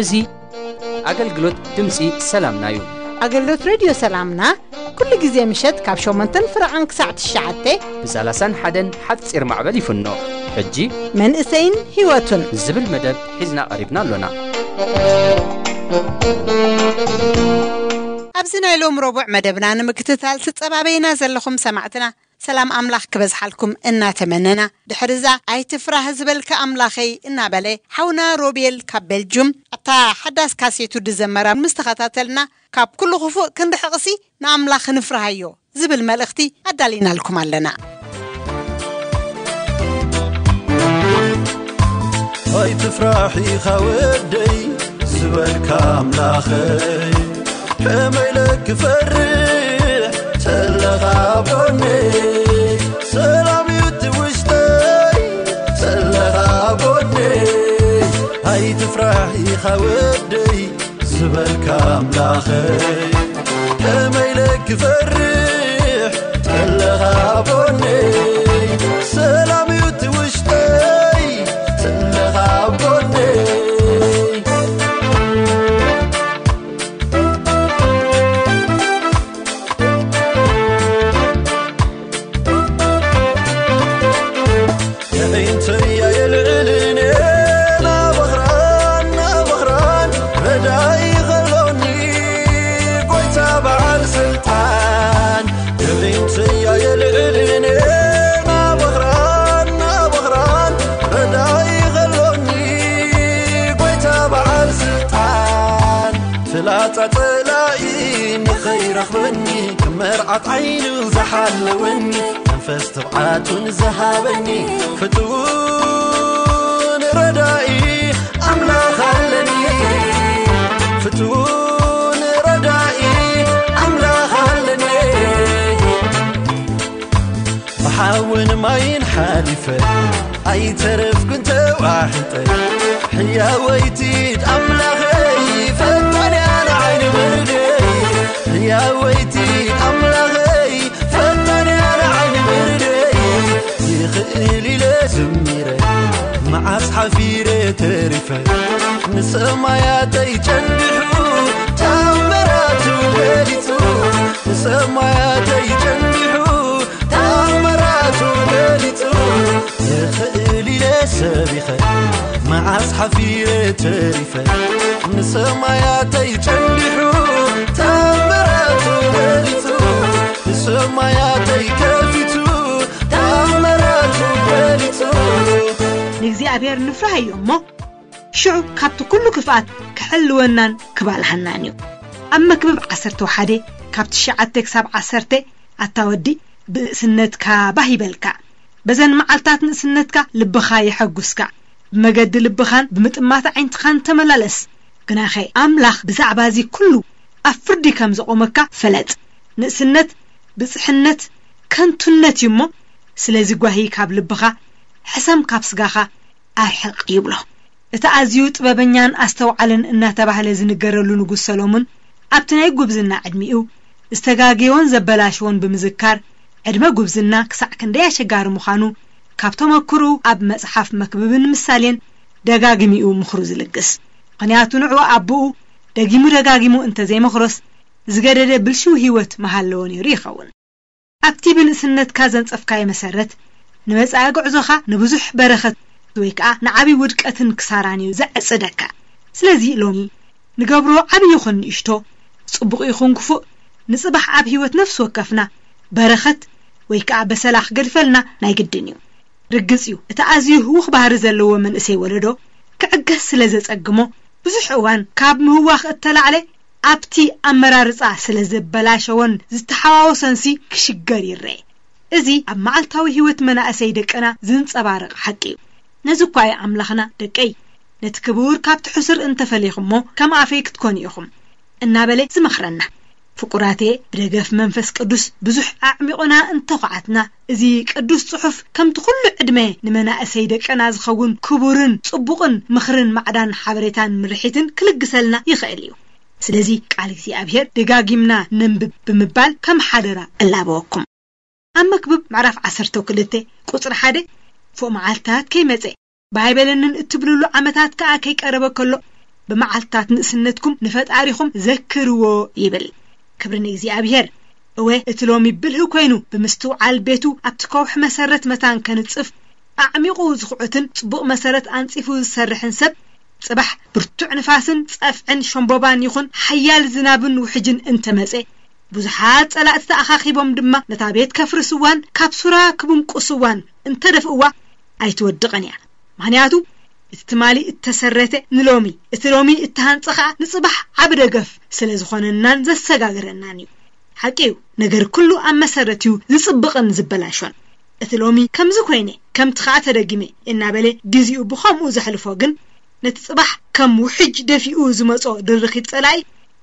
እዚ ኣገልግሎት ድምፂ ሰላምና እዩ። ኣገልግሎት ሬድዮ ሰላምና ኩሉ ግዜ ምሸት ካብ ሸሞንተን ፍረቓን ክሳዕ ትሽዓተ ብሳላሳን ሓደን ሓፂር ማዕበል ይፍኖ። ሕጂ መንእሰይን ህይወቱን ዝብል መደብ ሒዝና ቀሪብና ኣሎና። ኣብዚ ናይ ሎም ረቡዕ መደብና ንምክትታል ትጸባበይና ዘለኹም ሰማዕትና ሰላም ኣምላኽ ክበዝሓልኩም እናተመነና፣ ድሕርዛ ኣይትፍራህ ዝበልካ ኣምላኸይ እናበለ ሓውና ሮቤል ካብ ቤልጁም ኣብታ ሓዳስ ካሴቱ ድዘመራ ምስ ተኸታተልና፣ ካብ ኩሉ ክፉእ ክንርሕቕሲ ንኣምላኽ ንፍርሃዮ ዝብል መልእኽቲ ኣዳሊናልኩም ኣለና። ኣይትፍራሕ ኢኻ ወደይ ዝበልካ ኣምላኸይ፣ ከመይ ኢለ ክፈርሕ ተለኻ ኣብ ጎነይ፣ ሰላም እዩ እቲ ውሽጠይ ተለኻ ኣብ ጎነይ። ኣይትፍራሕ ኢኻ ወደይ ዝበልካ ኣምላኸይ፣ ከመይ ኢለ ክፈርሕ ተለኻ ኣብ ጎነይ፣ ሰላም እዩ እቲ ውሽጠይ ተለኻ ኣብ ጎነይ። የዒንተያ የልዕልን ናበኽራን ናበኽራን ረዳኢ ኸሎኒ ጎይታ በዓል ስልጣን። የዒንተያ የልዕልን ናበኽራን ናበኽራን ረዳኢ ኸሎኒ ጎይታ በዓል ስልጣን። ፍላጻ ጸላኢ ንኸይረኽበኒ፣ ክመርዓት ዓይኑ ዝሓለወኒ፣ መንፈስ ትብዓቱን ዝሃበኒ፣ ፍቱን ረዳኢ ኣምላኽ ኣለኒ። ፍቱን ረዳኢ ኣምላኽ ኣለኒ። ብሓውን ማይን ሓሊፈ፣ ኣይተረፍኩን ተዋሒጠ። ሕያወይቲ ኣምላኸይ ፈጣንያ ንዓይኒ ምርደይ። ሕያወይቲ ኣምላኸይ ፈጣንያ ንዓይኒ ምርደይ። ይኽእል ኢለ ዝሚረ፣ መዓስ ሓፊረ ተሪፈ። ንሰማያተይ ጨንዲሑ ታምራቱ ገሊጹ። ንሰማያተይ ጨንዲሑ ታምራቱ ገሊጹ። ይኽእል ኢለ ሰቢኸ፣ መዓስ ሓፊረ ተሪፈ። ንሰማያተይ ጨንዲሑ ታምራቱ ገሊጹ። ንሰማያተይ ከፊቱ ታምራቱ ገሊጹ። ንእግዚኣብሔር ንፍራህዮ እሞ፣ ሽዑ ካብቲ ኩሉ ክፍኣት ክሕልወናን ክባልሃናን እዩ። ኣብ መክብብ ዓሰርተ ሓደ ካብ ትሽዓተ ክሳብ ዓሰርተ ኣታ ወዲ ብንእስነትካ ባህ ይበልካ። በዘን መዓልታት ንእስነትካ ልብኻ የሐጉስካ። ብመገዲ ልብኻን ብምጥማት ኣዒንትኻን ተመላለስ። ግናኸ ኣምላኽ ብዛዕባ እዚ ኩሉ ኣብ ፍርዲ ከም ዘቖመካ ፈለጥ። ንእስነት ብጽሕነት ከንቱነት እዩ እሞ፣ ስለዚ ጓሂ ካብ ልብኻ፣ ሕሰም ካብ ስጋኻ ኣርሕቕ ይብሎ። እቲ ኣዝዩ ጥበበኛን ኣስተውዓልን እናተባህለ ዝንገረሉ ንጉስ ሰሎሞን፣ ኣብቲ ናይ ጉብዝና ዕድሚኡ ዝተጋገዮን ዘበላሸዎን ብምዝካር፣ ዕድመ ጉብዝና ክሳዕ ክንደይ ኣሸጋሪ ምዃኑ ካብ ተመክሮኡ ኣብ መጽሓፍ መክብብን ምሳሌን ደጋጊሙ እዩ ምኽሩ ዝልግስ። ምኽንያቱ ንዕኡ ኣቦኡ ደጊሙ ደጋጊሙ እንተዘይመኽሮስ፣ ዝገደደ ብልሽው ህይወት ምሃለዎ ነይሩ ይኸውን። ኣብቲ ብንእስነትካ ዘንጸፍካዮ መሰረት፣ ንመጻኢ ጉዕዞኻ ንብዙሕ በረኸት ወይ ከኣ ንዓቢ ውድቀትን ክሳራን እዩ ዘዕጽደካ። ስለዚ ሎሚ ንገብሮ ዓቢ ይኹን ንእሽቶ፣ ጽቡቕ ይኹን ክፉእ፣ ንጽባሕ ኣብ ህይወት ነፍሲ ወከፍና በረኸት ወይ ከኣ በሰላ ክገድፈልና ናይ ግድን እዩ። ርግጽ እዩ፣ እቲ ኣዝዩ ህዉኽ ባህሪ ዘለዎ መንእሰይ ወለዶ ክዕገስ ስለ ዘጸግሞ፣ ብዙሕ እዋን ካብ ምህዋኽ እተላዕለ ኣብቲ ኣመራርጻ ስለ ዘበላሸዎን ዝተሓዋወሰንሲ ክሽገር ይረአ። እዚ ኣብ መዓልታዊ ህይወት መናእሰይ ደቅና ዝንጸባረቕ ሓቂ እዩ። ነዚ እኳ እዩ ኣምላኽና፣ "ደቀይ፣ ነቲ ክቡር ካብቲ ሕሱር እንተፈሊኹሞ፣ ከም ኣፈይ ክትኮኑ ኢኹም" እናበለ ዝመኽረና። ፍቁራቴ፣ ብደገፍ መንፈስ ቅዱስ ብዙሕ ኣዕሚቑና እንተኹዓትና፣ እዚ ቅዱስ ጽሑፍ ከምቲ ኩሉ ዕድመ ንመናእሰይ ደቅና ዝኸውን ክቡርን ጽቡቕን ምኽርን ማዕዳን ሓበሬታን ምርሒትን ክልግሰልና ይኽእል እዩ። ስለዚ ቃል እግዚኣብሔር ደጋጊምና ነንብብ ብምባል ከም ሓደራ እላበወኩም። ኣብ መክብብ ምዕራፍ ዓሰርተ ክልተ ቁጽሪ ሓደ፣ ፎእ መዓልታት ከይመጸ፣ ባይበለንን እትብልሉ ዓመታት ከኣ ከይቀረበ ከሎ፣ ብመዓልታት ንእስነትኩም ንፈጣሪኹም ዘክርዎ ይብል። ክብሪ ንእግዚኣብሔር። እወ፣ እቲ ሎሚ ብልህ ኮይኑ ብምስትውዓል ቤቱ ኣብቲ ከውሒ መሰረት መታን ከንጽፍ ኣዕሚቑ ዝኹዕትን ጽቡቕ መሰረት ኣንጺፉ ዝሰርሕን ሰብ፣ ጽባሕ ብርቱዕ ንፋስን ጸፍዕን ሸምቦባን ይኹን ሓያል ዝናብን ውሕጅን እንተመጸ፣ ብዙሓት ጸላእቲ ተኣኻኺቦም ድማ ነታ ቤት ከፍርስዋን ካብ ሱራ ክብንቁስዋን እንተደፍእዋ ኣይትወድቕን እያ። ምኽንያቱ እቲ ትማሊ እተሰረተ ንሎሚ፣ እቲ ሎሚ እተሃንጸ ኸኣ ንጽባሕ ዓቢ ደገፍ ስለ ዝኾነናን ዘሰጋግረናን እዩ። ሓቂ እዩ፣ ነገር ኩሉ ኣብ መሰረት እዩ ዝጽብቕን ዝበላሾን። እቲ ሎሚ ከምዚ ኮይነ፣ ከምቲ ኸኣ ተደጊመ እናበለ ግዜኡ ብኸምኡ ዘሕልፎ ግን፣ ነቲ ጽባሕ ከም ውሕጅ ደፊኡ ዝመጾ ድርኺት ጸላኢ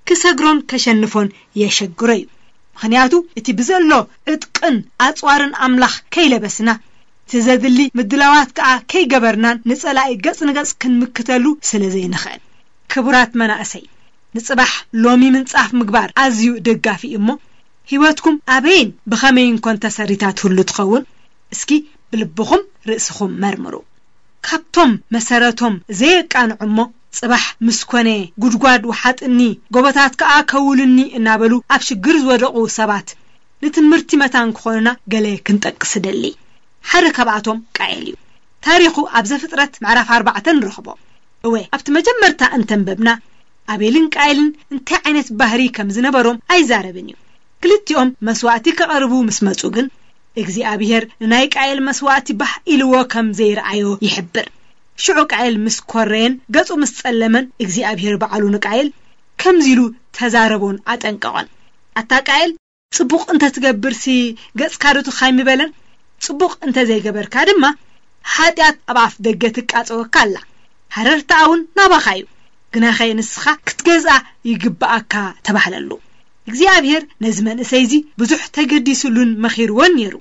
ክሰግሮን ከሸንፎን የሸግሮ እዩ። ምኽንያቱ እቲ ብዘሎ ዕጥቅን ኣጽዋርን ኣምላኽ ከይለበስና፣ እቲ ዘድሊ ምድላዋት ከኣ ከይገበርናን ንጸላኢ ገጽ ንገጽ ክንምክተሉ ስለ ዘይንኽእል። ክቡራት መናእሰይ፣ ንጽባሕ ሎሚ ምንጻፍ ምግባር ኣዝዩ ደጋፊ እዩ እሞ፣ ህይወትኩም ኣበይን ብኸመይን ኮን ተሰሪታ ትህሉ ትኸውን? እስኪ ብልብኹም ርእስኹም መርምሩ። ካብቶም መሰረቶም ዘየቃንዑ እሞ፣ ጽባሕ ምስ ኮነ ጉድጓድ ውሓጥኒ፣ ጎቦታት ከኣ ከውሉኒ እናበሉ ኣብ ሽግር ዝወደቑ ሰባት ንትምህርቲ መታን ክኾኑና ገለ ክንጠቅስ እደሊ። ሓደ ካብኣቶም ቃኤል እዩ። ታሪኹ ኣብ ዘፍጥረት ምዕራፍ ኣርባዕተ ንረኽቦ። እወ፣ ኣብቲ መጀመርታ እንተንበብና፣ ኣቤልን ቃኤልን እንታይ ዓይነት ባህሪ ከም ዝነበሮም ኣይዛረብን እዩ። ክልቲኦም መስዋእቲ ከቐርቡ ምስ መጹ ግን፣ እግዚኣብሔር ንናይ ቃኤል መስዋእቲ ባህ ኢልዎ ከም ዘይረኣዮ ይሕብር። ሽዑ ቃኤል ምስ ኮረየን ገጹ ምስ ጸለመን፣ እግዚኣብሔር ባዕሉ ንቃኤል ከምዚ ኢሉ ተዛረቦን ኣጠንቀቖን። ኣታ ቃኤል፣ ጽቡቕ እንተ ትገብርሲ ገጽካ ዶ ትኻይ ምበለን? ጽቡቕ እንተ ዘይገበርካ ድማ፣ ሓጢኣት ኣብ ኣፍ ደገ ትቃጸወካ ኣላ። ሃረርታኣ እውን ናባኻ እዩ። ግናኸ ንስኻ ክትገዝኣ ይግብኣካ ተባህለሉ። እግዚኣብሔር ነዚ መንእሰይ እዚ ብዙሕ ተገዲስሉን መኺርዎን ነይሩ።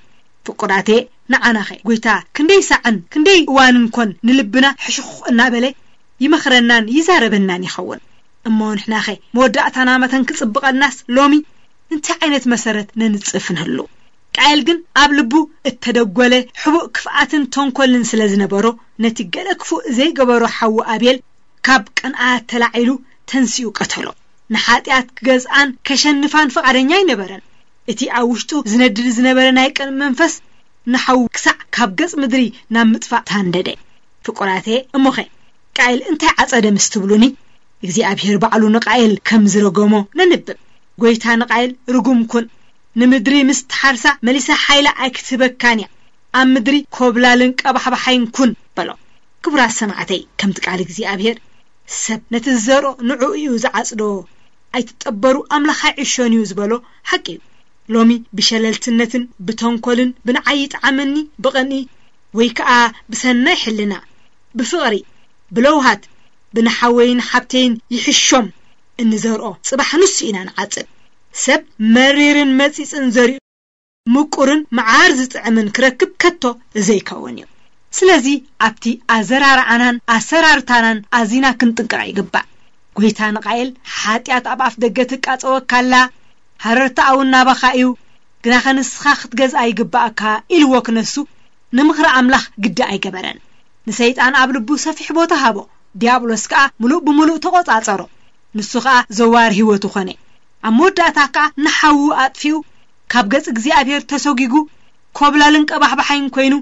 ፍቁራቴ፣ ንዓናኸ ጐይታ ክንደይ ሳዕን ክንደይ እዋንን ኮን ንልብና ሕሹኽ እናበለ ይመኽረናን ይዛረበናን ይኸውን? እሞ ንሕናኸ መወዳእታና መተን ክጽብቐልናስ ሎሚ እንታይ ዓይነት መሰረት ነንጽፍ ንህሉ? ቃየል ግን ኣብ ልቡ እተደጎለ ሕቡእ ክፍኣትን ተንኮልን ስለ ዝነበሮ፣ ነቲ ገለ ክፉእ ዘይገበሮ ሓዉ ኣቤል ካብ ቅንኣት ተላዒሉ ተንሲኡ ቀተሎ። ንሓጢኣት ክገዝኣን ከሸንፋን ፍቓደኛ ኣይነበረን። እቲ ኣብ ውሽጡ ዝነድድ ዝነበረ ናይ ቅንእ መንፈስ ንሓዉ ክሳዕ ካብ ገጽ ምድሪ ናብ ምጥፋእ ታንደደ። ፍቁራቴ፣ እሞኸ ቃየል እንታይ ዓጸደ ምስ ትብሉኒ፣ እግዚኣብሔር ባዕሉ ንቃየል ከም ዝረገሞ ነንብብ። ጐይታ ንቃየል፣ "ርጉም ኩን፣ ንምድሪ ምስ ትሓርሳ መሊሳ ሓይላ ኣይክትህበካን እያ፣ ኣብ ምድሪ ኮብላልን ቀባሕባሓይን ኩን" በሎ። ክቡራት ሰማዕተይ፣ ከምቲ ቃል እግዚኣብሔር፣ "ሰብ ነቲ ዝዘርኦ ንዕኡ እዩ ዝዓጽዶ፣ ኣይትጠበሩ ኣምላኽ ኣይዕሾን እዩ" ዝበሎ ሓቂ እዩ። ሎሚ ብሸለልትነትን ብተንኮልን ብንዓይ ይጥዓመኒ ብቕንኢ ወይ ከኣ ብሰናይ ሕልና፣ ብፍቕሪ፣ ብለውሃት፣ ብንሓወይን ሓብተይን ይሕሾም እንዘርኦ ጽባሕ ንሱ ኢና ንዓጽድ። ሰብ መሪርን መጺጽን ዘሪኡ ምቁርን መዓር ዝጥዕምን ክረክብ ከቶ ዘይከውን እዩ። ስለዚ ኣብቲ ኣዘራርዓናን ኣሰራርታናን ኣዚና ክንጥንቀቕ ይግባእ። ጐይታ ንቃየል፣ "ሓጢኣት ኣብ ኣፍ ደገ ትቃጸወካ ኣላ፣ ሃረርታኣ እውን ናባኻ እዩ፣ ግናኸ ንስኻ ክትገዝኣ ይግብኣካ" ኢልዎ ክነሱ፣ ንምኽሪ ኣምላኽ ግዲ ኣይገበረን። ንሰይጣን ኣብ ልቡ ሰፊሕ ቦታ ሃቦ። ዲያብሎስ ከኣ ምሉእ ብምሉእ ተቖጻጸሮ። ንሱ ኸኣ ዘዋሪ ህይወቱ ኾነ። ኣብ መወዳእታ ከኣ ንሓዉ ኣጥፊኡ፣ ካብ ገጽ እግዚኣብሔር ተሰጒጉ፣ ኮብላልን ቀባሕባሓይን ኮይኑ፣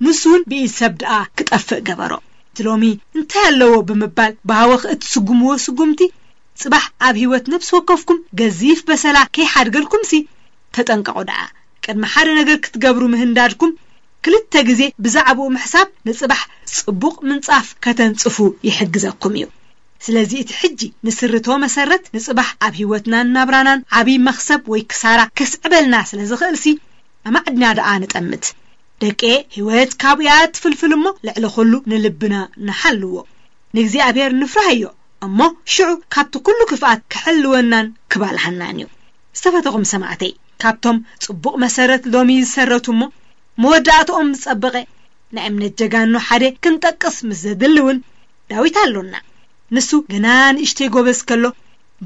ንሱ እውን ብኢድ ሰብ ደኣ ክጠፍእ ገበሮ። እቲ ሎሚ እንታይ ኣለዎ ብምባል ብሃወኽ እትስጉምዎ ስጉምቲ፣ ጽባሕ ኣብ ህይወት ነፍሲ ወከፍኩም ገዚፍ በሰላ ከይሓድገልኩምሲ፣ ተጠንቀቑ ደኣ። ቅድሚ ሓደ ነገር ክትገብሩ ምህንዳድኩም፣ ክልተ ግዜ ብዛዕባኡ ምሕሳብ ንጽባሕ ጽቡቕ ምንጻፍ ከተንጽፉ ይሕግዘኩም እዩ። ስለዚ እቲ ሕጂ ንስርቶ መሰረት ንጽባሕ ኣብ ህይወትናን ናብራናን ዓቢ መኽሰብ ወይ ክሳራ ከስዕበልና ስለ ዝኽእልሲ፣ ኣማዕድና ደኣ ንጠምት። ደቂ፣ ህይወት ካብኡ እያ ትፍልፍል እሞ፣ ልዕሊ ኩሉ ንልብና ንሓልዎ። ንእግዚኣብሔር ንፍራህዮ እሞ፣ ሽዑ ካብቲ ኩሉ ክፍኣት ክሕልወናን ክባልሃናን እዩ። ዝተፈተኹም ሰማዕተይ፣ ካብቶም ጽቡቕ መሰረት ሎሚ ዝሰረቱ እሞ መወዳእትኦም ዝጸበቐ ናይ እምነት ጀጋኑ ሓደ ክንጠቅስ ምስ ዘድሊ እውን ዳዊት ኣሎና። ንሱ ገና ንእሽተይ ጎበዝ ከሎ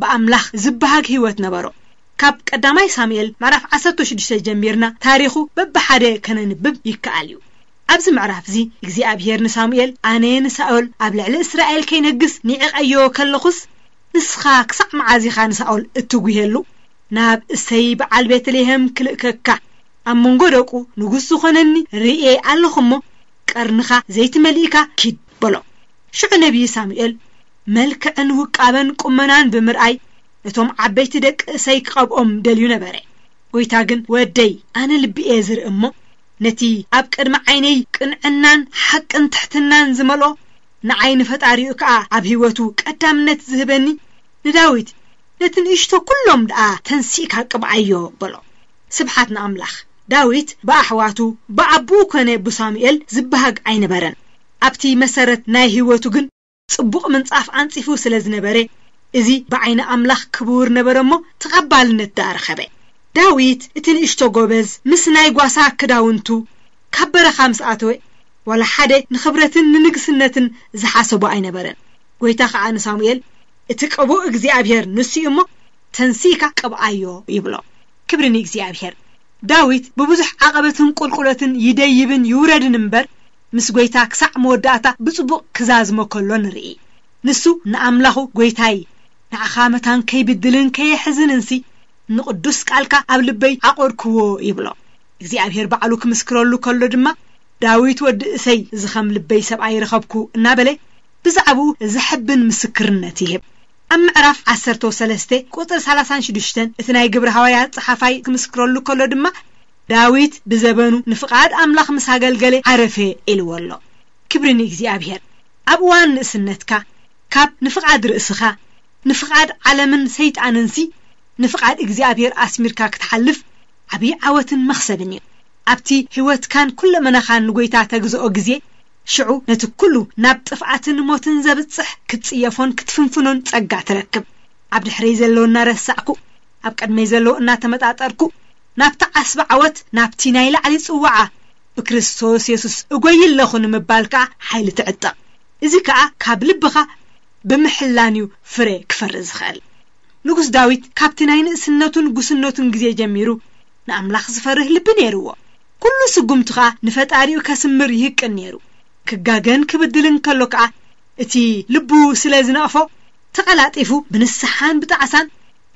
ብኣምላኽ ዝበሃግ ህይወት ነበሮ። ካብ ቀዳማይ ሳሙኤል ምዕራፍ ዓሰርተ ሽዱሽተ ጀሚርና ታሪኹ በብሓደ ከነንብብ ይከኣል እዩ። ኣብዚ ምዕራፍ እዚ እግዚኣብሔር ንሳሙኤል፣ ኣነ ንሳኦል ኣብ ልዕሊ እስራኤል ከይነግስ ንዒቐዮ ከለኹስ፣ ንስኻ ክሳዕ መዓዝ ኢኻ ንሳኦል እትጉሄሉ? ናብ እሰይ በዓል ቤተልሔም ክልእከካ፣ ኣብ መንጎ ደቁ ንጉስ ዝኾነኒ ርእየ ኣለኹ እሞ፣ ቀርንኻ ዘይትመሊእካ ኪድ በሎ። ሽዑ ነቢይ ሳሙኤል መልክዕን ውቃበን ቁመናን ብምርኣይ፣ ነቶም ዓበይቲ ደቂ እሰይ ክቐብኦም ደልዩ ነበረ። ጎይታ ግን፣ ወደይ፣ ኣነ ልቢ እየ ዝርኢ እሞ፣ ነቲ ኣብ ቅድሚ ዓይነይ ቅንዕናን ሓቅን ትሕትናን ዝመልኦ፣ ንዓይ ንፈጣሪኡ ከኣ ኣብ ህይወቱ ቀዳምነት ዝህበኒ ንዳዊት፣ ነቲ ንእሽቶ ኩሎም ደኣ ተንሲእካ ቅብኣዮ በሎ። ስብሓት ንኣምላኽ። ዳዊት ብኣሕዋቱ፣ ብኣቦኡ ኮነ ብሳሙኤል ዝበሃግ ኣይነበረን። ኣብቲ መሰረት ናይ ህይወቱ ግን ጽቡቕ ምንጻፍ ኣንጺፉ ስለ ዝነበረ፣ እዚ ብዓይኒ ኣምላኽ ክቡር ነበረ እሞ ተቐባልነት ደኣ ረኸበ። ዳዊት እቲ ንእሽቶ ጎበዝ ምስ ናይ ጓሳ ክዳውንቱ ካብ በረኻ ምስ ኣተወ፣ ዋላ ሓደ ንኽብረትን ንንግስነትን ዝሓሰቦ ኣይነበረን። ጎይታ ኸኣ ንሳሙኤል፣ እቲ ቅቡእ እግዚኣብሔር ንሱ እዩ እሞ፣ ተንሲእካ ቅብኣዮ ይብሎ። ክብሪ ንእግዚኣብሔር። ዳዊት ብብዙሕ ዓቐበትን ቁልቁለትን ይደይብን ይውረድን እምበር፣ ምስ ጎይታ ክሳዕ መወዳእታ ብጽቡቕ ክዛዝሞ ከሎ ንርኢ። ንሱ ንኣምላኹ፣ ጎይታይ፣ ንዓኻ መታን ከይብድልን ከየሕዝንንሲ፣ ንቕዱስ ቃልካ ኣብ ልበይ ዓቖርክዎ ይብሎ። እግዚኣብሔር ባዕሉ ክምስክረሉ ከሎ ድማ፣ ዳዊት ወዲ እሰይ፣ እዚ ኸም ልበይ ሰብኣይ ረኸብኩ እናበለ ብዛዕባኡ ዘሐብን ምስክርነት ይህብ። ኣብ ምዕራፍ ዓሰርተ ሰለስተ ቁጽሪ ሰላሳን ሽዱሽተን እቲ ናይ ግብሪ ሃዋርያት ጸሓፋይ ክምስክረሉ ከሎ ድማ፣ ዳዊት ብዘበኑ ንፍቓድ ኣምላኽ ምስ ኣገልገለ ዓረፈ ኢልዎ ኣሎ። ክብሪ ንእግዚኣብሔር። ኣብ እዋን ንእስነትካ ካብ ንፍቓድ ርእስኻ፣ ንፍቓድ ዓለምን ሰይጣንንሲ ንፍቓድ እግዚኣብሔር ኣስሚርካ ክትሓልፍ ዓብዪ ዓወትን መኽሰብን እዩ። ኣብቲ ህይወትካን ኩለመናኻን ንጎይታ ተግዝኦ ግዜ፣ ሽዑ ነቲ ኩሉ ናብ ጥፍኣትን ሞትን ዘብጽሕ ክትጽየፎን ክትፍንፍኖን ጸጋ ትረክብ። ኣብ ድሕረይ ዘሎ እናረሳዕኩ፣ ኣብ ቅድመይ ዘሎ እናተመጣጠርኩ፣ ናብቲ ዓስቢ ዓወት፣ ናብቲ ናይ ላዕሊ ጽዋዓ ብክርስቶስ የሱስ እጎይ ኣለኹ ንምባል ከኣ ሓይሊ ትዕጠቕ። እዚ ከኣ ካብ ልብኻ ብምሕላን እዩ ፍረ ክፈሪ ዝኽእል። ንጉስ ዳዊት ካብቲ ናይ ንእስነቱን ጉስነቱን ግዜ ጀሚሩ ንኣምላኽ ዝፈርህ ልቢ ነይርዎ። ኩሉ ስጉምቱ ኸኣ ንፈጣሪኡ ከስምር ይህቅን ነይሩ። ክጋገን ክብድልን ከሎ ከኣ እቲ ልቡ ስለ ዝነቕፎ ተቐላጢፉ ብንስሓን ብጣዕሳን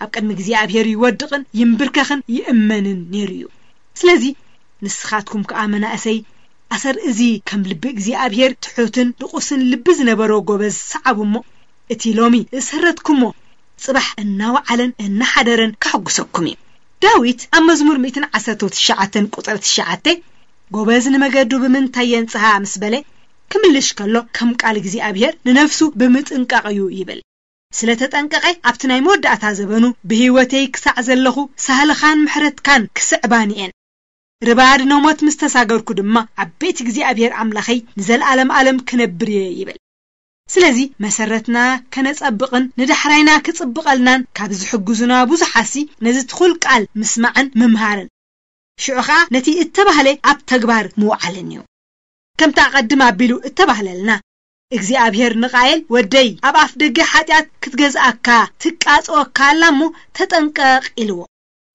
ኣብ ቅድሚ እግዚኣብሔር ይወድቕን ይንብርከኽን ይእመንን ነይሩ እዩ። ስለዚ ንስኻትኩም ከኣ መናእሰይ ኣሰር እዚ ከም ልቢ እግዚኣብሔር ትሑትን ድቑስን ልቢ ዝነበሮ ጎበዝ ሰዓቡ እሞ እቲ ሎሚ ዝሰረትኩሞ ጽባሕ እናወዓለን እናሓደረን ከሐጉሰኩም እዩ። ዳዊት ኣብ መዝሙር ሚእትን ዓሰርተ ትሽዓተን ቁጽሪ ትሽዓተ ጎበዝ ንመገዱ ብምንታይ የንጽሃ ምስ በለ ክምልሽ ከሎ ከም ቃል እግዚኣብሔር ንነፍሱ ብምጥንቃቕ እዩ ይብል። ስለ ተጠንቀቐ ኣብቲ ናይ መወዳእታ ዘበኑ ብህይወተይ ክሳዕ ዘለኹ ሳህልኻን ምሕረትካን ክስዕባኒ እየን። ርባድ ነሞት ምስ ተሳገርኩ ድማ ዓቤት እግዚኣብሔር ኣምላኸይ ንዘለዓለም ዓለም ክነብር እየ ይብል። ስለዚ መሰረትና ከነጸብቕን ንዳሕራይና ክጽብቐልናን ካብ ዝሕግዙና ብዙሓሲ ነዚ ትኹል ቃል ምስማዕን ምምሃርን ሽዑ ኸኣ ነቲ እተባህለ ኣብ ተግባር ምውዓልን እዩ። ከምቲ ኣቐድም ኣቢሉ እተባህለልና እግዚኣብሔር ንቃየል ወደይ ኣብ ኣፍ ደገ ሓጢኣት ክትገዝኣካ ትቃጽወካ ኣላ እሞ ተጠንቀቕ ኢልዎ።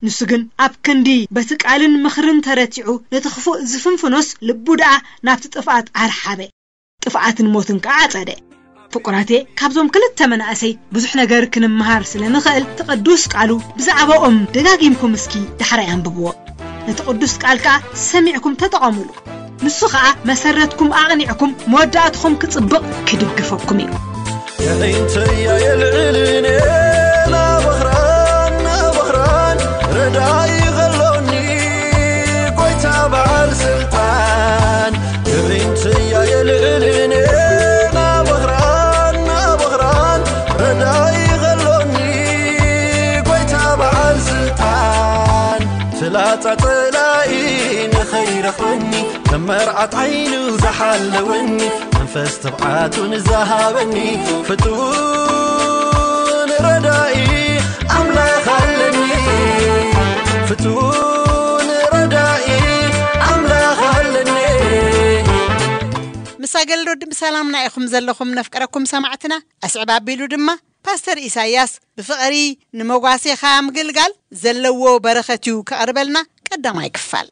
ንሱ ግን ኣብ ክንዲ በቲ ቃልን ምኽርን ተረቲዑ ነቲ ክፉእ ዝፍንፍኖስ ልቡ ደኣ ናብቲ ጥፍኣት ኣርሓበ። ጥፍኣትን ሞትን ከኣ ኣጸደ። ፍቁራቴ ካብዞም ክልተ መናእሰይ ብዙሕ ነገር ክንምሃር ስለ ንኽእል እቲ ቅዱስ ቃሉ ብዛዕባኦም ደጋጊምኩም እስኪ ዳሕራይ ኣንብብዎ። ነቲ ቅዱስ ቃል ከኣ ሰሚዕኩም ተጠቐሙሉ። ንሱ ኸኣ መሰረትኩም ኣቕኒዕኩም መወዳእትኹም ክጽብቕ ክድግፈኩም እዩ። የዒንተያ የልዕልን ናበኽራን ናበኽራን ረዳኢ ኸሎኒ ጎይታ በዓል ስልጣን። የዒንተያ የልዕልን ናበኽራን ናበኽራን ረዳኢ ኸሎኒ ጎይታ በዓል ስልጣን። ፍላጻ ጸላኢ ንኸይረኽበኒ ከም መርዓት ዓይኑ ዝሓለወኒ መንፈስ ትብዓቱ ንዝሃበኒ ፍቱን ረዳኢ ኣምላኽ ኣለኒ። ፍቱን ረዳኢ ኣምላኽ ኣለኒ። ምስ ኣገልግሎት ብሰላምና ኢኹም ዘለኹም ነፍቀረኩም ሰማዕትና። ኣስዕብ ኣቢሉ ድማ ፓስተር ኢሳያስ ብፍቕሪ ንመጓሴኻ ምግልጋል ዘለዎ በረኸት እዩ ከቕርበልና ቀዳማይ ክፋል።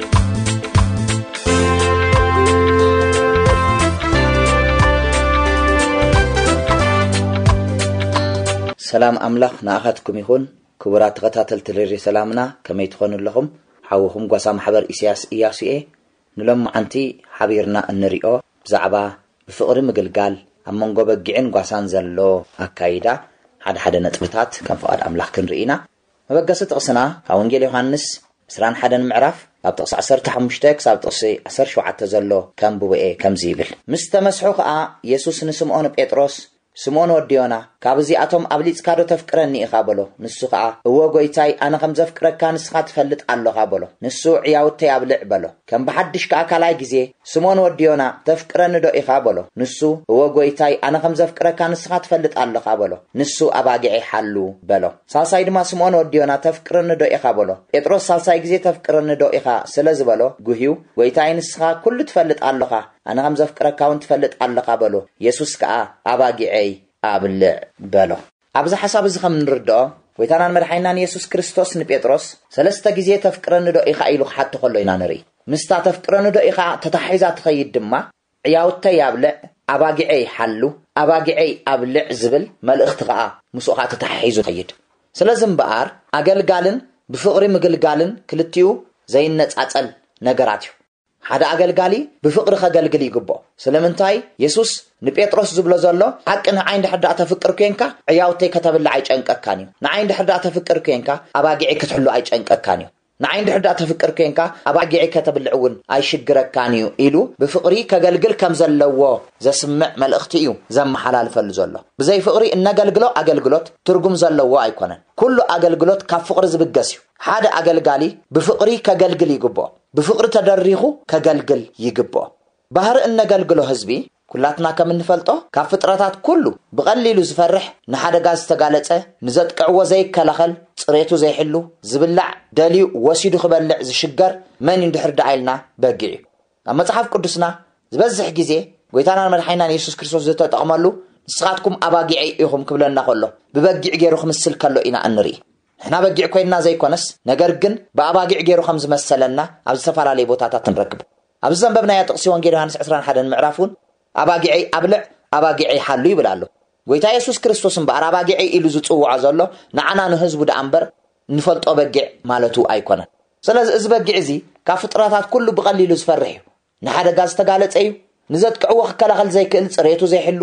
ሰላም ኣምላኽ ንኣኻትኩም ይኹን። ክቡራት ተኸታተልቲ ሬድዮ ሰላምና፣ ከመይ ትኾኑ ኣለኹም? ሓውኹም ጓሳ ማሕበር ኢሳያስ ኢያሱ እየ። ንሎማዓንቲ ሓቢርና እንሪኦ ብዛዕባ ብፍቕሪ ምግልጋል ኣብ መንጎ በጊዕን ጓሳን ዘሎ ኣካይዳ ሓደ ሓደ ነጥብታት ከም ፍቓድ ኣምላኽ ክንርኢ ኢና። መበገሲ ጥቕስና ካብ ወንጌል ዮሃንስ ዕስራን ሓደን ምዕራፍ ካብ ጥቕሲ ዓሰርተ ሓሙሽተ ክሳብ ጥቕሲ ዓሰርተ ሸውዓተ ዘሎ ከንብቦ እየ። ከምዚ ይብል፣ ምስ ተመስሑ ኸኣ የሱስ ንስምኦን ጴጥሮስ፣ ስምኦን ወዲ ዮና፣ ካብ እዚኣቶም ኣብሊጽካ ዶ ተፍቅረኒ ኢኻ? በሎ። ንሱ ኸኣ፣ እወ ጐይታይ፣ ኣነ ኸም ዘፍቅረካ ንስኻ ትፈልጥ ኣሎኻ በሎ። ንሱ፣ ዕያውተይ ኣብልዕ በሎ። ከም ብሓድሽ ከኣ ካልኣይ ግዜ፣ ስምኦን ወዲ ዮና፣ ተፍቅረኒ ዶ ኢኻ? በሎ። ንሱ፣ እወ ጐይታይ፣ ኣነ ኸም ዘፍቅረካ ንስኻ ትፈልጥ ኣሎኻ በሎ። ንሱ፣ ኣባጊዐይ ሓሉ በሎ። ሳልሳይ ድማ፣ ስምኦን ወዲ ዮና፣ ተፍቅረኒ ዶ ኢኻ? በሎ። ጴጥሮስ ሳልሳይ ግዜ፣ ተፍቅረኒ ዶ ኢኻ? ስለ ዝበሎ፣ ጉህዩ፣ ጐይታይ፣ ንስኻ ኵሉ ትፈልጥ ኣሎኻ፣ ኣነ ኸም ዘፍቅረካ እውን ትፈልጥ ኣለኻ በሎ። የሱስ ከኣ፣ ኣባጊዐይ ኣብልዕ በሎ። ኣብዚ ሓሳብ እዚ ከም እንርድኦ፣ ጐይታናን መድሓኒናን የሱስ ክርስቶስ ንጴጥሮስ ሰለስተ ግዜ፣ ተፍቅረኒ ዶ ኢኻ? ኢሉ ክሓቶ ከሎ ኢና ንርኢ። ምስታ ተፍቅረኒ ዶ ኢኻ ተታሒዛ ትኸይድ ድማ፣ ዕያውተይ ኣብልዕ፣ ኣባጊዐይ ሓሉ፣ ኣባጊዐይ ኣብልዕ ዝብል መልእኽቲ ኸኣ ምስኡ ኸኣ ተታሒዙ ይኸይድ። ስለዚ እምበኣር፣ ኣገልጋልን ብፍቕሪ ምግልጋልን ክልቲኡ ዘይነጻጸል ነገራት እዩ። ሓደ ኣገልጋሊ ብፍቕሪ ከገልግል ይግብኦ። ስለምንታይ? የሱስ ንጴጥሮስ ዝብሎ ዘሎ፣ ሓቂ ንዓይ እንድሕር ደኣ ተፍቅር ኴንካ፣ ዕያውተይ ከተብልዕ ኣይጨንቀካን እዩ። ንዓይ እንድሕር ደኣ ተፍቅር ኴንካ፣ ኣባጊዐይ ክትሕሉ ኣይጨንቀካን እዩ። ንዓይ እንድሕር ደኣ ተፍቅር ኴንካ፣ ኣባጊዐይ ከተብልዕ እውን ኣይሽግረካን እዩ ኢሉ ብፍቕሪ ከገልግል ከም ዘለዎ ዘስምዕ መልእኽቲ እዩ ዘመሓላልፈሉ ዘሎ። ብዘይ ፍቕሪ እነገልግሎ ኣገልግሎት ትርጉም ዘለዎ ኣይኮነን። ኩሉ ኣገልግሎት ካብ ፍቕሪ ዝብገስ እዩ። ሓደ ኣገልጋሊ ብፍቕሪ ከገልግል ይግብኦ። ብፍቕሪ ተደሪኹ ከገልግል ይግብኦ። ባህሪ እነገልግሎ ህዝቢ፣ ኩላትና ከም እንፈልጦ፣ ካብ ፍጥረታት ኩሉ ብቐሊሉ ዝፈርሕ፣ ንሓደጋ ዝተጋለጸ፣ ንዘጥቅዕዎ ዘይከላኸል፣ ጽሬቱ ዘይሕሉ፣ ዝብላዕ ደልዩ ወሲዱ ክበልዕ ዝሽገር መን እዩ እንድሕር ደኣ ኢልና፣ በጊዕ እዩ። ኣብ መጽሓፍ ቅዱስና ዝበዝሕ ግዜ ጐይታናን መድሓኒናን የሱስ ክርስቶስ ዝተጠቕመሉ፣ "ንስኻትኩም ኣባጊዐይ ኢኹም" ክብለና ከሎ፣ ብበጊዕ ገይሩ ክምስል ከሎ ኢና እንርኢ። ንሕና በጊዕ ኮይንና ዘይኮነስ፣ ነገር ግን ብኣባጊዕ ገይሩ ከም ዝመሰለና ኣብ ዝተፈላለየ ቦታታት ንረክብ። ኣብዚ ዘንበብናዮ ጥቕሲ ወንጌል ዮሃንስ ዕስራን ሓደን ምዕራፍ እውን፣ "ኣባጊዐይ ኣብልዕ፣ ኣባጊዐይ ሓሉ" ይብል ኣሎ። ጐይታ የሱስ ክርስቶስ እምበኣር ኣባጊዐይ ኢሉ ዝጽውዖ ዘሎ ንዓና ንህዝቡ ደኣ እምበር፣ ንፈልጦ በጊዕ ማለቱ ኣይኮነን። ስለዚ እዚ በጊዕ እዚ ካብ ፍጥረታት ኩሉ ብቐሊሉ ዝፈርሕ እዩ። ንሓደጋ ዝተጋለጸ እዩ። ንዘጥቅዕዎ ክከላኸል ዘይክእል፣ ጽሬቱ ዘይሕሉ፣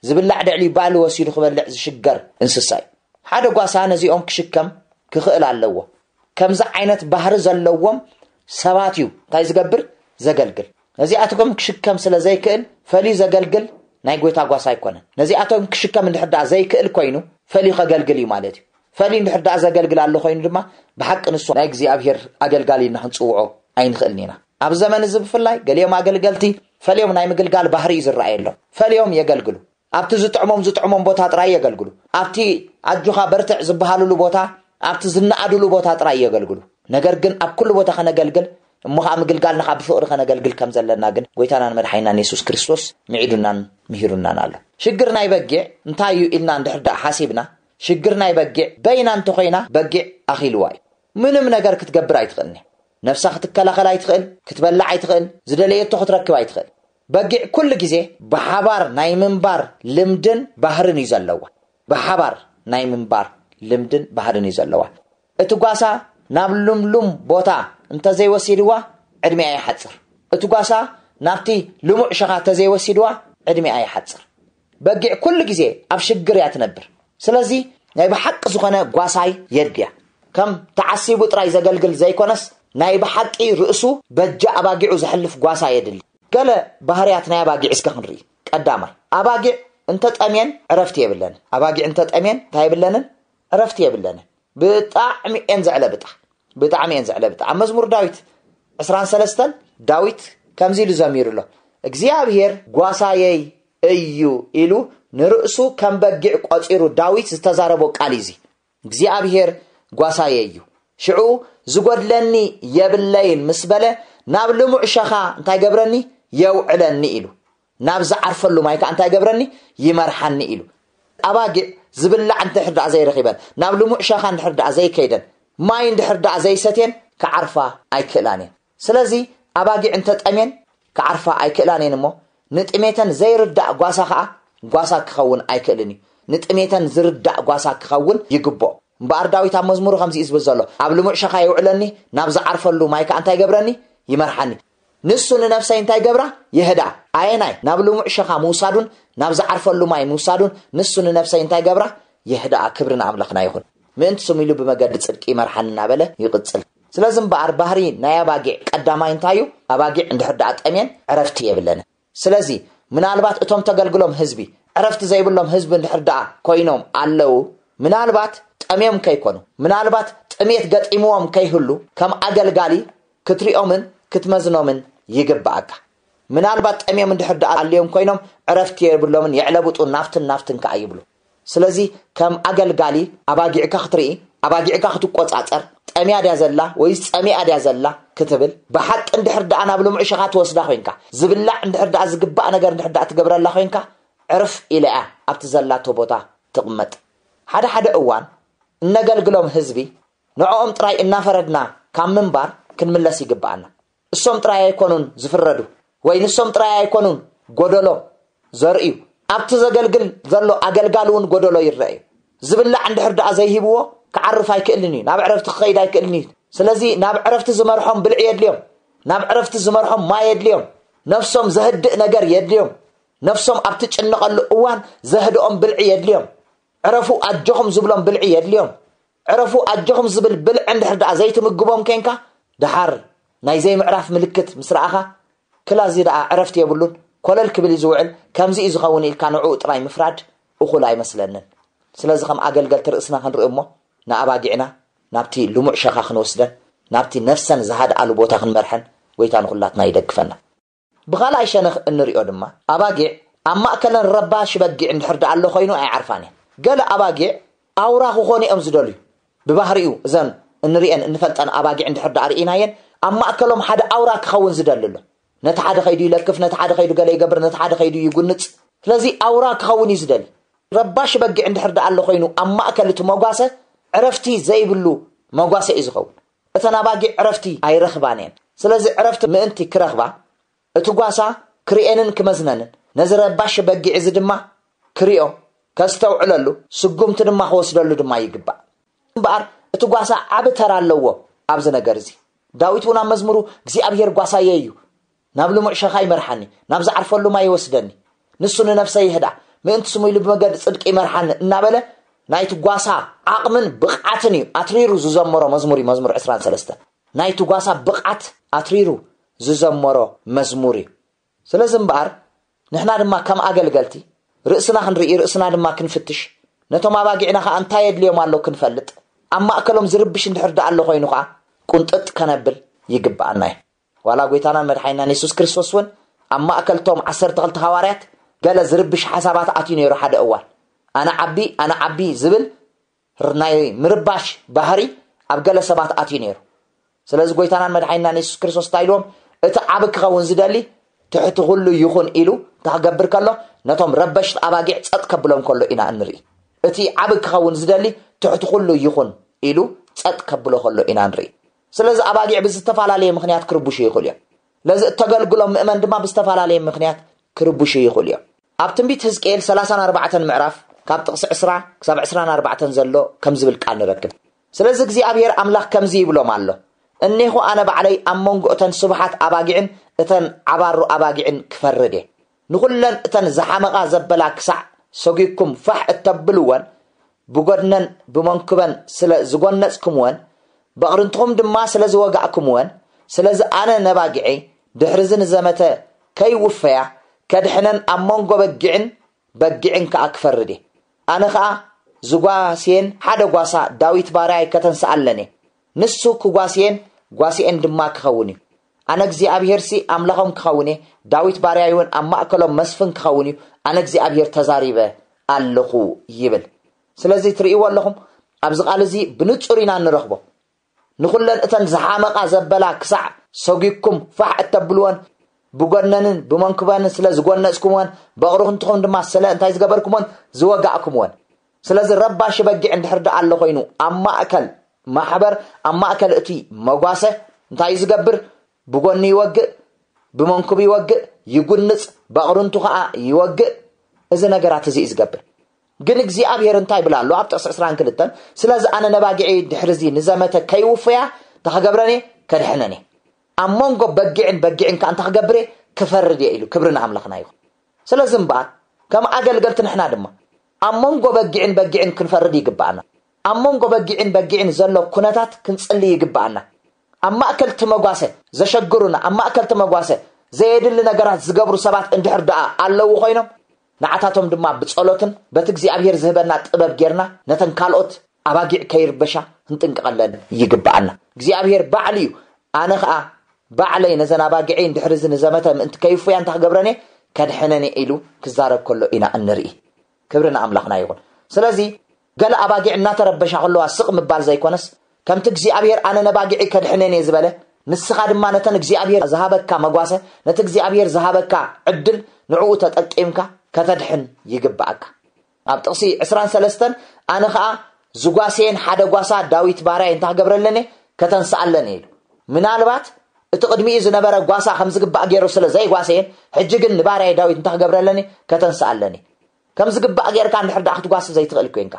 ዝብላዕ ደዕልዩ ባእሊ ወሲዱ ክበልዕ ዝሽገር እንስሳ እዩ። ሓደ ጓሳ ነዚኦም ክሽከም ክኽእል ኣለዎ። ከምዚ ዓይነት ባህሪ ዘለዎም ሰባት እዩ እንታይ ዝገብር? ዘገልግል። ነዚኣቶም ክሽከም ስለ ዘይክእል ፈልዩ ዘገልግል ናይ ጐይታ ጓሳ ኣይኮነን። ነዚኣቶም ክሽከም እንድሕር ደኣ ዘይክእል ኮይኑ ፈልዩ ከገልግል እዩ ማለት እዩ። ፈልዩ እንድሕር ደኣ ዘገልግል ኣሎ ኮይኑ ድማ ብሓቂ ንሱ ናይ እግዚኣብሔር ኣገልጋሊ ኢልና ክንጽውዖ ኣይንኽእልን ኢና። ኣብ ዘመን እዚ ብፍላይ ገሊኦም ኣገልገልቲ ፈልዮም ናይ ምግልጋል ባህሪ እዩ ዝረኣየሎም። ፈልዮም የገልግሉ። ኣብቲ ዝጥዕሞም ዝጥዕሞም ቦታ ጥራይ የገልግሉ። ኣብቲ ኣጆኻ በርትዕ ዝበሃሉሉ ቦታ፣ ኣብቲ ዝነኣዱሉ ቦታ ጥራይ የገልግሉ። ነገር ግን ኣብ ኩሉ ቦታ ከነገልግል፣ እሞ ኸዓ ምግልጋልና ኸዓ ብፍቕሪ ከነገልግል ከም ዘለና ግን ጐይታናን መድሓኒናን የሱስ ክርስቶስ ምዒዱናን ምሂሩናን ኣሎ። ሽግር ናይ በጊዕ እንታይ እዩ ኢልና እንድሕር ደኣ ሓሲብና፣ ሽግር ናይ በጊዕ በይና እንተኾይና በጊዕ ኣኺልዋ እዩ። ምንም ነገር ክትገብር ኣይትኽእልን እያ። ነፍሳ ክትከላኸል ኣይትኽእል፣ ክትበልዕ ኣይትኽእል፣ ዝደለየቶ ክትረክብ ኣይትኽእል። በጊዕ ኩሉ ግዜ ብሓባር ናይ ምንባር ልምድን ባህርን እዩ ዘለዋ። ብሓባር ናይ ምንባር ልምድን ባህርን እዩ ዘለዋ። እቲ ጓሳ ናብ ልምሉም ቦታ እንተዘይወሲድዋ ዕድሚኣ ይሓጽር። እቲ ጓሳ ናብቲ ልሙዕ ሸኻ እንተዘይወሲድዋ ዕድሚኣ ይሓጽር። በጊዕ ኩሉ ግዜ ኣብ ሽግር እያ ትነብር። ስለዚ ናይ ብሓቂ ዝኾነ ጓሳይ የድልያ። ከም ተዓሲቡ ጥራይ ዘገልግል ዘይኮነስ ናይ ብሓቂ ርእሱ በጃ ኣባጊዑ ዘሕልፍ ጓሳ የድሊ። ገለ ባህርያት ናይ ኣባጊዕ እስከ ክንርኢ። ቀዳማይ፣ ኣባጊዕ እንተጠምየን ዕረፍቲ የብለንን። ኣባጊዕ እንተጠምየን እንታይ የብለንን? ዕረፍቲ የብለንን። ብጣዕሚ እየን ዘዕለብጣ። ብጣዕሚ እየን ዘዕለብጣ። ኣብ መዝሙር ዳዊት ዕስራን ሰለስተን ዳዊት ከምዚ ኢሉ ዘሚሩ ኣሎ። "እግዚኣብሔር ጓሳየይ እዩ" ኢሉ ንርእሱ ከም በጊዕ ቆጺሩ ዳዊት ዝተዛረቦ ቃል እዩ እዚ። "እግዚኣብሔር ጓሳየይ እዩ፣ ሽዑ ዝጎድለኒ የብለይን ምስ በለ ናብ ልሙዕ ሸኻ እንታይ ገብረኒ? የውዕለኒ ኢሉ። ናብ ዝዓርፈሉ ማይ ከዓ እንታይ ገብረኒ? ይመርሓኒ ኢሉ። ኣባጊዕ ዝብላዕ እንድሕር ደኣ ዘይረኺበን፣ ናብ ልሙዕ ሸኻ እንድሕር ደኣ ዘይከይደን፣ ማይ እንድሕር ደኣ ዘይሰትየን ክዓርፋ ኣይክእላን እየን። ስለዚ ኣባጊዕ እንተጠምየን ክዓርፋ ኣይክእላን እየን እሞ፣ ንጥሜተን ዘይርዳእ ጓሳ ከዓ ጓሳ ክኸውን ኣይክእልን እዩ። ንጥሜተን ዝርዳእ ጓሳ ክኸውን ይግብኦ። እምበኣር ዳዊት ኣብ መዝሙሩ ከምዚ እዩ ዝብል ዘሎ፣ ኣብ ልሙዕ ሸኻ የውዕለኒ፣ ናብ ዝዓርፈሉ ማይ ከዓ እንታይ ገብረኒ? ይመርሓኒ። ንሱ ንነፍሰይ እንታይ ገብራ? የህዳ። ኣየናይ? ናብ ልሙዕ ሸኻ ምውሳዱን ናብ ዝዓርፈሉ ማይ ምውሳዱን ንሱ ንነፍሰይ እንታይ ገብራ? የህዳ። ክብሪ ንኣምላኽና ይኹን። ምእንቲ ስሙ ኢሉ ብመገዲ ጽድቂ ይመርሓኒ እናበለ ይቕጽል። ስለዚ እምበኣር ባህሪ ናይ ኣባጊዕ ቀዳማይ እንታይ እዩ? ኣባጊዕ እንድሕር ደኣ ጠምየን ዕረፍቲ የብለንን። ስለዚ ምናልባት እቶም ተገልግሎም ህዝቢ ዕረፍቲ ዘይብሎም ህዝቢ እንድሕር ደኣ ኮይኖም ኣለዉ፣ ምናልባት ጠምዮም ከይኮኑ፣ ምናልባት ጥሜት ገጢምዎም ከይህሉ ከም ኣገልጋሊ ክትሪኦምን ክትመዝኖምን ይግብኣካ። ምናልባት ጠምዮም እንድሕር ደኣ ኣልዮም ኮይኖም ዕረፍቲ የብሎምን፣ የዕለብጡ ናፍትን ናፍትን ከኣ ይብሉ። ስለዚ ከም ኣገልጋሊ ኣባጊዕካ ክትርኢ፣ ኣባጊዕካ ክትቆጻጸር፣ ጠምያ ድያ ዘላ ወይስ ጸሚኣ ድያ ዘላ ክትብል፣ ብሓቂ እንድሕር ደኣ ናብ ልሙዕ ሸኻ ትወስዳ ኮይንካ፣ ዝብላዕ እንድሕር ደኣ ዝግባእ ነገር እንድሕር ደኣ ትገብረላ ኮይንካ፣ ዕርፍ ኢላ እያ ኣብቲ ዘላቶ ቦታ ትቕመጥ። ሓደ ሓደ እዋን እነገልግሎም ህዝቢ ንዕኦም ጥራይ እናፈረድና ካብ ምንባር ክንምለስ ይግብኣና። እሶም ጥራይ ኣይኮኑን ዝፍረዱ፣ ወይ ንሶም ጥራይ ኣይኮኑን ጎደሎ ዘርእዩ። ኣብቲ ዘገልግል ዘሎ ኣገልጋሊ እውን ጎደሎ ይረአ እዩ። ዝብላዕ እንድሕር ደኣ ዘይሂብዎ ክዓርፍ ኣይክእልን እዩ፣ ናብ ዕረፍቲ ክኸይድ ኣይክእልን እዩ። ስለዚ ናብ ዕረፍቲ ዝመርሖም ብልዒ የድልዮም፣ ናብ ዕረፍቲ ዝመርሖም ማይ የድልዮም፣ ነፍሶም ዘህድእ ነገር የድልዮም፣ ነፍሶም ኣብ ትጭነቐሉ እዋን ዘህድኦም ብልዒ የድልዮም፣ ዕረፉ ኣጆኹም ዝብሎም ብልዒ የድልዮም። ዕረፉ ኣጆኹም ዝብል ብልዒ እንድሕር ደኣ ዘይትምግቦም ኬንካ፣ ደሓር ናይ ዘይምዕራፍ ምልክት ምስ ረኣኻ፣ ክላ እዚ ደኣ ዕረፍቲ የብሉን፣ ኮለል ክብል እዩ ዝውዕል፣ ከምዚ እዩ ዝኸውን ኢልካ ንዕኡ ጥራይ ምፍራድ እኹል ኣይመስለንን። ስለዚ ከም ኣገልገልቲ ርእስና ክንርኢ እሞ፣ ንኣባጊዕና ናብቲ ልሙዕ ሸኻ ክንወስደን፣ ናብቲ ነፍሰን ዝሃድኣሉ ቦታ ክንመርሐን፣ ጎይታ ንኹላትና ይደግፈና። ብኻልኣይ ሸነኽ እንሪኦ ድማ፣ ኣባጊዕ ኣብ ማእከለን ረባሺ በጊዕ እንድሕር ደኣ ኣሎ ኮይኑ ኣይዓርፋን እየን። ገለ ኣባጊዕ ኣውራ ክኾኑ እዮም ዝደልዩ። ብባህሪኡ እዘን እንሪአን እንፈልጠን ኣባጊዕ እንድሕር ደኣ ርኢናየን፣ ኣብ ማእከሎም ሓደ ኣውራ ክኸውን ዝደሊ ኣሎ። ነቲ ሓደ ከይዱ ይለክፍ፣ ነቲ ሓደ ከይዱ ገለ ይገብር፣ ነቲ ሓደ ከይዱ ይጉንጽ። ስለዚ ኣውራ ክኸውን እዩ ዝደሊ። ረባሺ በጊዕ እንድሕር ደኣ ኣሎ ኮይኑ ኣብ ማእከል እቲ መጓሰ፣ ዕረፍቲ ዘይብሉ መጓሰ እዩ ዝኸውን። እተን ኣባጊዕ ዕረፍቲ ኣይረኽባን እየን። ስለዚ ዕረፍቲ ምእንቲ ክረኽባ፣ እቲ ጓሳ ክርእየንን ክመዝነንን፣ ነዚ ረባሺ በጊዕ እዚ ድማ ክርእዮ፣ ከስተውዕለሉ፣ ስጉምቲ ድማ ክወስደሉ ድማ ይግባእ። እምበኣር እቲ ጓሳ ዓቢ ተራ ኣለዎ ኣብዚ ነገር እዚ። ዳዊት እውን ኣብ መዝሙሩ እግዚኣብሄር ጓሳየ እዩ፣ ናብ ልሙዕ ሸኻ ይመርሓኒ፣ ናብ ዝዓርፈሉ ማይ ይወስደኒ፣ ንሱ ንነፍሰይ ይህዳ፣ ምእንቲ ስሙ ኢሉ ብመገዲ ጽድቂ ይመርሓኒ እናበለ ናይቲ ጓሳ ዓቕምን ብቕዓትን እዩ ኣትሪሩ ዝዘመሮ መዝሙር እዩ፣ መዝሙር ዕስራን ሰለስተን። ናይቲ ጓሳ ብቕዓት ኣትሪሩ ዝዘመሮ መዝሙር እዩ። ስለዚ እምበኣር ንሕና ድማ ከም ኣገልገልቲ ርእስና ክንርኢ፣ ርእስና ድማ ክንፍትሽ፣ ነቶም ኣባጊዕና ኸኣ እንታይ የድልዮም ኣሎ ክንፈልጥ፣ ኣብ ማእከሎም ዝርብሽ እንድሕር ደኣ ኣሎ ኮይኑ ኸኣ ቁንጥጥ ከነብል ይግብኣና እዩ። ዋላ ጎይታናን መድሓኒናን የሱስ ክርስቶስ እውን ኣብ ማእከል ቶም ዓሰርተ ክልተ ሃዋርያት ገለ ዝርብሽ ሓሳባት ኣትዩ ነይሩ ሓደ እዋን። ኣነ ዓቢ፣ ኣነ ዓቢ ዝብል ናይ ምርባሽ ባህሪ ኣብ ገለ ሰባት ኣትዩ ነይሩ። ስለዚ ጎይታናን መድሓኒናን የሱስ ክርስቶስ እንታይ ኢልዎም? እቲ ዓቢ ክኸውን ዝደሊ ትሕቲ ኩሉ ይኹን ኢሉ እንታይ ክገብር ከሎ፣ ነቶም ረበሽቲ ኣባጊዕ ጸጥ ከብሎም ከሎ ኢና እንርኢ። እቲ ዓቢ ክኸውን ዝደሊ ትሕቲ ኩሉ ይኹን ኢሉ ጸጥ ከብሎ ከሎ ኢና ንርኢ። ስለዚ ኣባጊዕ ብዝተፈላለየ ምኽንያት ክርብሹ ይኽእሉ እዮም። ስለዚ እተገልግሎም ምእመን ድማ ብዝተፈላለየ ምኽንያት ክርብሹ ይኽእሉ እዮም። ኣብ ትንቢት ህዝቅኤል ሰላሳን ኣርባዕተን ምዕራፍ ካብ ጥቕሲ ዕስራ ክሳብ ዕስራን ኣርባዕተን ዘሎ ከም ዝብል ቃል ንረክብ። ስለዚ እግዚኣብሔር ኣምላኽ ከምዚ ይብሎም ኣሎ፣ እኔኹ ኣነ ባዕለይ ኣብ መንጎ እተን ስቡሓት ኣባጊዕን እተን ዓባሩ ኣባጊዕን ክፈርድ እየ። ንኹለን እተን ዝሓመቓ ዘበላ ክሳዕ ሰጒግኩም ፋሕ እተብልወን፣ ብጎድነን ብመንኩበን ስለ ዝጎነጽኩምወን፣ በቕርንትኹም ድማ ስለ ዝወጋእኩምወን፣ ስለዚ ኣነ ነባጊዐይ ድሕሪ እዚ ንዘመተ ከይውፈያ ከድሕነን ኣብ መንጎ በጊዕን በጊዕን ከኣ ክፈርድ እየ። ኣነ ኸኣ ዝጓስየን ሓደ ጓሳ ዳዊት ባርያይ ከተንስኣለን እየ። ንሱ ክጓስየን ጓስኤን ድማ ክኸውን እዩ። ኣነ እግዚኣብሄርሲ ኣምላኾም ክኸውን እየ፣ ዳዊት ባርያይ እውን ኣብ ማእከሎም መስፍን ክኸውን እዩ። ኣነ እግዚኣብሄር ተዛሪበ ኣለኹ ይብል። ስለዚ ትርእይዎ ኣለኹም፣ ኣብዚ ቃል እዚ ብንጹር ኢና እንረኽቦ። ንኹለን እተን ዝሓመቓ ዘበላ ክሳዕ ሰጒግኩም ፋሕ እተብልወን፣ ብጎነንን ብመንኩበንን ስለ ዝጎነጽኩምወን፣ በቕርንትኹም ድማ ስለ እንታይ ዝገበርኩምወን፣ ዝወጋእኩምወን። ስለዚ ረባሺ በጊዕ እንድሕር ደኣ ኣሎ ኮይኑ፣ ኣብ ማእከል ማሕበር፣ ኣብ ማእከል እቲ መጓሰ እንታይ እዩ ዝገብር? ብጎኒ ይወግእ፣ ብመንኩብ ይወግእ፣ ይጉንጽ፣ በቕርንቱ ኸኣ ይወግእ። እዚ ነገራት እዚ እዩ ዝገብር። ግን እግዚኣብሔር እንታይ ይብል ኣሎ ኣብ ጥቕሲ ዕስራን ክልተን? ስለዚ ኣነ ነባጊዐይ ድሕሪ እዚ ንዘመተ ከይውፍያ እንታይ ክገብረን እየ? ከድሕነን እየ። ኣብ መንጎ በጊዕን በጊዕን ከኣ እንታይ ክገብር እየ? ክፈርድ እየ ኢሉ። ክብሪ ንኣምላኽና ይኹን። ስለዚ እምበኣር ከም ኣገልገልቲ ንሕና ድማ ኣብ መንጎ በጊዕን በጊዕን ክንፈርድ ይግብኣና። ኣብ መንጎ በጊዕን በጊዕን ዘሎ ኩነታት ክንጽሊ ይግብኣና። ኣብ ማእከል እቲ መጓሰ ዘሸግሩና፣ ኣብ ማእከል እቲ መጓሰ ዘየድሊ ነገራት ዝገብሩ ሰባት እንድሕር ደኣ ኣለዉ ኮይኖም፣ ንዓታቶም ድማ ብጸሎትን በቲ እግዚኣብሔር ዝህበና ጥበብ ጌርና ነተን ካልኦት ኣባጊዕ ከይርበሻ ክንጥንቀቐለን ይግብኣና። እግዚኣብሔር ባዕሉ እዩ፣ ኣነ ኸኣ ባዕለይ ነዘን ኣባጊዐይ እንድሕር እዚ ንዘመተ ምእንቲ ከይፉያ እንታይ ክገብረን እየ? ከድሕነን እየ ኢሉ ክዛረብ ከሎ ኢና እንርኢ። ክብሪ ንኣምላኽና ይኹን። ስለዚ ገለ ኣባጊዕ እናተረበሻ ከለዋ ስቕ ምባል ዘይኮነስ፣ ከምቲ እግዚኣብሔር ኣነ ነባጊዐይ ከድሕነን እየ ዝበለ፣ ንስኻ ድማ ነተን እግዚኣብሔር ዝሃበካ መጓሰ፣ ነቲ እግዚኣብሔር ዝሃበካ ዕድል ንዕኡ ተጠቂምካ ከተድሕን ይግብኣካ። ኣብ ጥቕሲ ዕስራን ሰለስተን ኣነ ኸኣ ዝጓሰየን ሓደ ጓሳ ዳዊት ባርያይ እንታይ ክገብረለኒ? ከተንስኣለኒ ኢሉ። ምናልባት እቲ ቅድሚኡ ዝነበረ ጓሳ ከም ዝግባእ ገይሩ ስለ ዘይጓሰየን፣ ሕጂ ግን ንባርያይ ዳዊት እንታይ ክገብረለኒ? ከተንስኣለኒ። ከም ዝግባእ ጌርካ እንድሕር ደኣ ክትጓሲ ዘይትኽእል ኮይንካ፣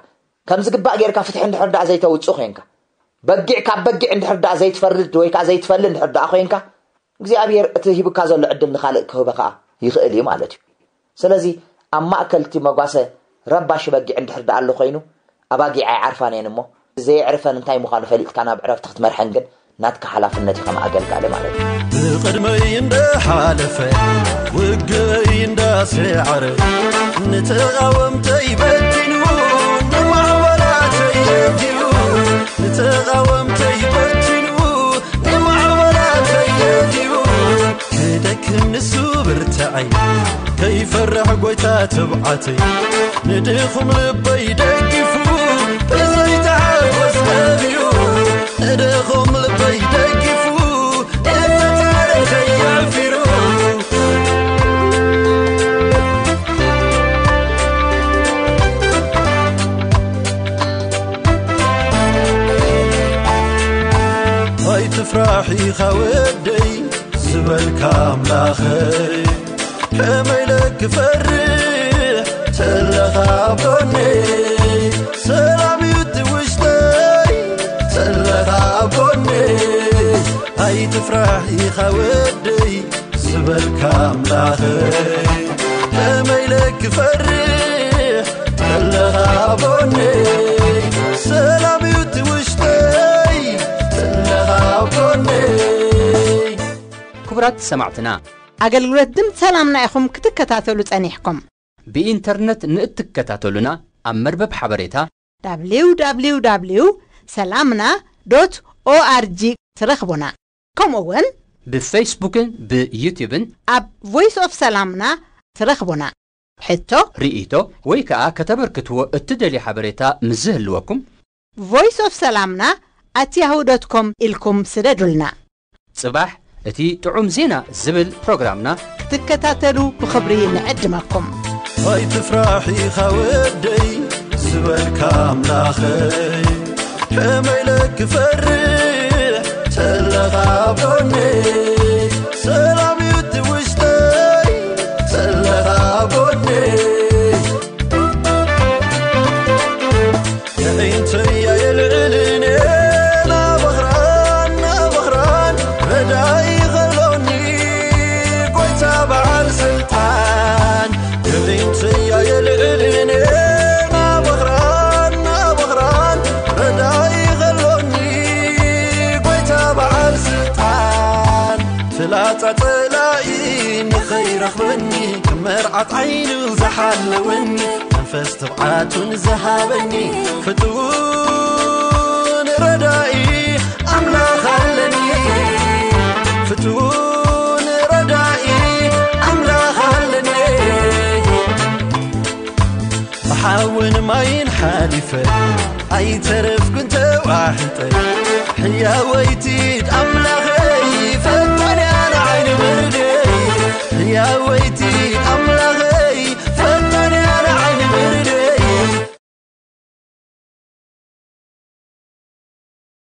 ከም ዝግባእ ጌርካ ፍትሒ እንድሕር ደኣ ዘይተውጽእ ኮይንካ፣ በጊዕ ካብ በጊዕ እንድሕር ደኣ ዘይትፈርድ ወይ ከኣ ዘይትፈሊ እንድሕር ደኣ ኮይንካ፣ እግዚኣብሔር እቲ ሂብካ ዘሎ ዕድል ንኻልእ ክህበ ከኣ ይኽእል እዩ ማለት እዩ። ስለዚ ኣብ ማእከል እቲ መጓሰ ረባሺ በጊዕ እንድሕር ደኣ ኣሎ ኮይኑ፣ ኣባጊዕ ኣይዓርፋን እየን እሞ፣ ዘየዕርፈን እንታይ ምዃኑ ፈሊጥካ ናብ ዕረፍቲ ክትመርሐን ግን ናትካ ሓላፍነት እዩ ከም ኣገልጋሊ ማለት እዩ። ብቕድመይ እንዳሓለፈ፣ ውግእይ እንዳሰዓረ፣ ንተቓወምተይ በቲኑ፣ ንማዕበላተይ የዲኡ፣ ንተቓወምተይ በቲኑ፣ ንማዕበላተይ የዲኡ። ክደክም ንሱ ብርትዐይ፣ ከይፈርሕ ጎይታ ትብዓተይ፣ ንድኹም ልበይ ደጊፉ፣ ብዘይተሓጎስ ነቢዩ፣ ንድኹም ልበይ ደጊፉ፣ እቲ ታሪኸይ ኣዕፊሩ። ኣይትፍራሕ ኢኻ ወደይ ዝበልካ ኣምላኸይ፣ ከመይ ኢለ ክፈርሕ ተለኻ ኣብ ጎነይ፣ ሰላም እዩ እቲ ውሽጠይ ተለኻ ኣብ ጎነይ። ኣይትፍራሕ ኢኻ ወደይ ዝበልካ ኣምላኸይ፣ ከመይ ኢለ ክፈርሕ ተለኻ ኣብ ጎነይ፣ ሰላም እዩ እቲ ውሽጠይ ተለኻ ኣብ ጎነይ። ክቡራት ሰማዕትና፣ ኣገልግሎት ድምፂ ሰላምና ኢኹም ክትከታተሉ ጸኒሕኩም። ብኢንተርነት ንእትከታተሉና ኣብ መርበብ ሓበሬታ www ሰላምና ኦርጂ ትረኽቡና። ከምኡ እውን ብፌስቡክን ብዩቲዩብን ኣብ ቮይስ ኦፍ ሰላምና ትረኽቡና። ሕቶ፣ ርእይቶ ወይ ከኣ ከተበርክትዎ እትደልዩ ሓበሬታ ምስ ዝህልወኩም፣ ቮይስ ኦፍ ሰላምና ኣት ያሁ ዶት ኮም ኢልኩም ስደዱልና። ጽባሕ እቲ ጥዑም ዜና ዝብል ፕሮግራምና ክትከታተሉ ብኽብሪ ንዕድመኩም። ኣይትፍራሕ ኢኻ ወደይ ዝበልካ ኣምላኸይ፣ ከመይ ኢለ ክፈርሕ ተለኻ ኣብ ጎነይ፣ ሰላም እዩ እቲ ውሽጠይ ተለኻ ኣብ ጎነይ። የዒንተያ የልዕልን ናበኽራን ናበኽራን ረዳኢ ኸሎኒ ጎይታ በዓል ስልጣን። የዒንተያ የልዕልን ናበኽራን ናበኽራን ረዳኢ ኸሎኒ ጎይታ በዓል ስልጣን። ፍላጻ ጸላኢ ንኸይረኽበኒ፣ ከም መርዓት ዓይኑ ዝሓለወኒ፣ መንፈስ ትብዓቱን ዝሃበኒ፣ ፍቱን ረዳኢ ኣምላኽ ኣለኒ። ፍቱን ረዳኢ ኣምላኽ ኣለኒ። ብሓውን ማይን ሓሊፈ፣ ኣይተረፍኩን ተዋሒጠ። ሕያወይቲ ኣምላኸይ ፈጣንያ ንዓይኒ ብርደይ ሕያወይቲ ኣምላኸይ